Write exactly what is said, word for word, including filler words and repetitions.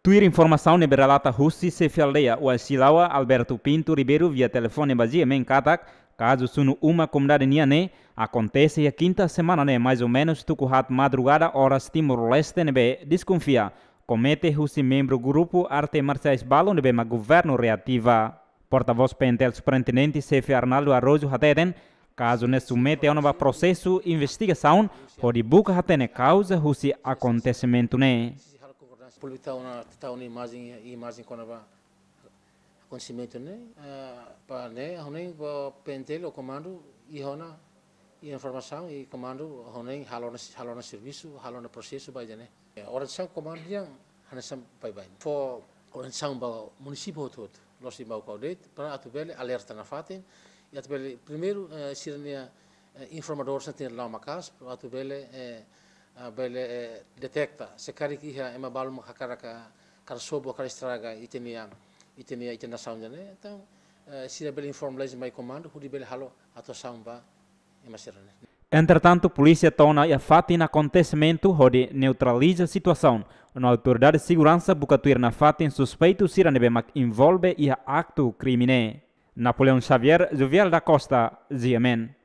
Tuir informasaun ne'ebé relata husi xefe aldeia Uasilaua, Alberto Pinto Ribeiro, via telefone ba GMN katak, kazu sunu uma komunidade nian ne'e akontese iha kinta semana ne'e, mais ou menus tuku haat madrugada oras Timor-Leste, ne'ebé deskonfia komete husi membru grupu arte marsiais balu ne'ebé mak governu reativa. Portavós PNTL Superintendente Xefe Arnaldo Araújo hateten, kazu ne'e submete ona ba prosesu investigasaun hodi buka hatene kauza husi akontesimentu ne'e. Públiku tau ona, tau ona imajen, imajen kona-ba akontesimentu ne'e, ah, ba ne'e, ha'u hanoin ba PNTL ho komandu, iha ona informasaun, i komandu ha'u hanoin halo ona, halo ona servisu, halo ona prosesu ba ida-ne'e. Orientasaun komandu nian hanesan baibain. Fó orientasaun ba munisípiu hotu-hotu, la'ós iha Baucau de'it, para atu bele alerta nafatin, i atu bele primeiru, eh, sira-nia, eh, informadór sira tenke la'o maka'as, para atu bele, eh, ah, bele, eh, deteta se karik iha ema balu mak hakarak hakarak sobu, hakarak estraga ita-nia, ita-nia, ita-nia nasaun ida-ne'e. Entaun, eh, sira bele informa lais mai komandu hodi bele halo atuasaun ba ema sira-ne'e. Entretantu, polísia to'o ona iha fatin akontesimentu hodi neutraliza situasaun, no autoridade seguransa buka tuir nafatin suspeitu sira ne'ebé mak envolve iha aktu krime ne'e. Napoleão Xavier, Jovial da Costa, GMN.